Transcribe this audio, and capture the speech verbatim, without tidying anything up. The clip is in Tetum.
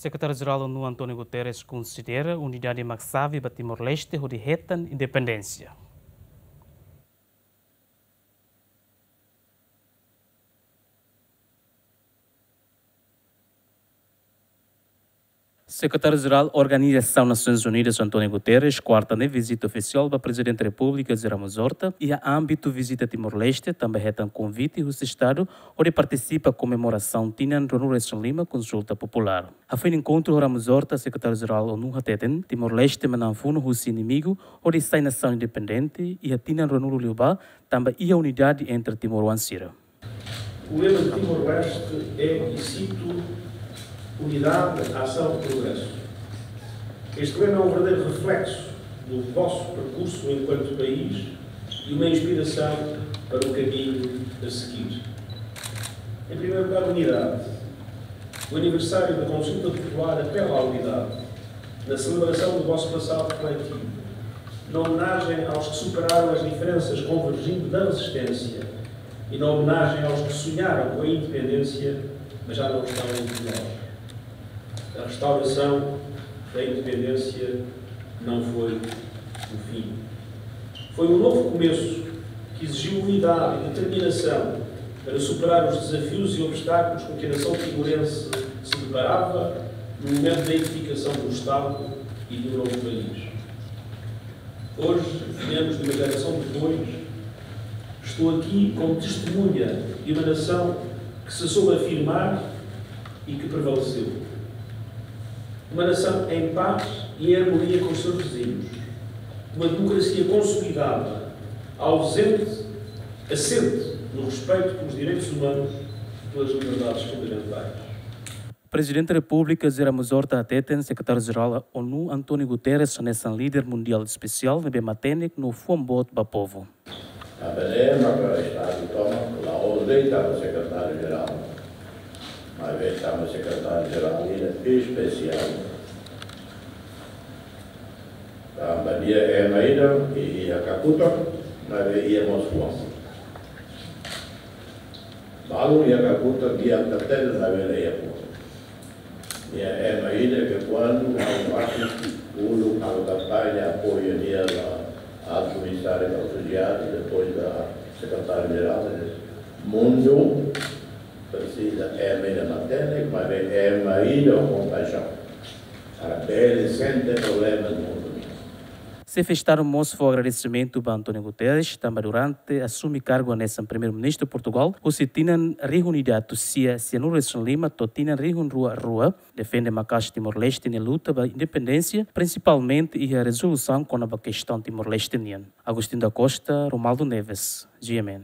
Sekretáriu-Jerál ONU António Guterres konsidera unidade mak xave ba Timor-Leste hodi hetan independénsia. Sekretáriu-Jerál Organizasaun Nasoins Unidas António Guterres, kuarta ne'e vizita ofisiál ba Prezidente Repúblika José Ramos Horta, iha ámbitu vizita Timor-Leste, tanba hetan konvite husi Estadu hodi partisipa komemorasaun tinan ruanulu-resin-lima konsulta populár. Hafoin enkontru ho Ramos Horta, Sekretáriu-Jerál ONU hateten, Timor-Leste manán funu husi inimigu hodi sai nasaun independente iha tinan ruanulu liubá, tanba iha unidade entre timoroan sira. O lema de Timor-Leste é, e cito, "Unidade, Ação, Progresso". Este lema é um verdadeiro reflexo do vosso percurso enquanto país e uma inspiração para o caminho a seguir. Em primeiro lugar, unidade. O aniversário da consulta popular apela à unidade, na celebração do vosso passado coletivo, na homenagem aos que superaram as diferenças convergindo na resistência e na homenagem aos que sonharam com a independência, mas já não estão entre nós. A restauração da independência não foi o fim. Foi um novo começo que exigiu unidade e determinação para superar os desafios e obstáculos com que a nação timorense se deparava no momento da edificação do Estado e do novo país. Hoje, menos de uma geração depois, estou aqui como testemunha de uma nação que se soube afirmar e que prevaleceu. Uma nação em paz e em harmonia com os seus vizinhos. Uma democracia consolidada, ausente, assente no respeito pelos direitos humanos e pelas liberdades fundamentais. Prezidente Repúblika José Ramos Horta hateten, Sekretáriu-Jerál ONU António Guterres hanesan líder mundiál espesiál ne'ebé matenek no fuan boot ba povu. Tanba ne'e maka Estadu tomak la'ós de'it tanba Sekretáriu-Jerál, maibé tanba Sekretáriu-Jerál ida espesiál. Tanba nia ema ida ke iha kakutak, maibé iha mós fuan. Balu iha kakutak, nia atu hatene, maibé la iha fuan. Nia ema ida ke kuandu ha'u bá uluk halo kampaña apoiu nia ba Altu Komisáriu Ausiliár, depois ba Sekretáriu-Jerál, mundu presiza ema ida matenek, maibé ema ida ho kompaixaun. Para bele sente problema do mundo. Xefe Estadu mós fó agradesimentu ba António Guterres, tanba durante asume kargu hanesan Primeiru-Ministru Portugál, husi tinan rihun ida atus sia sianulu-resin-lima to'o tinan rihun rua rua, defende maka'as Timor-Leste nia luta ba independénsia, prinsipalmente iha rezolusaun kona-ba kestaun Timor-Leste nian. Agostinho da Costa, Romualdo Neves, G M N.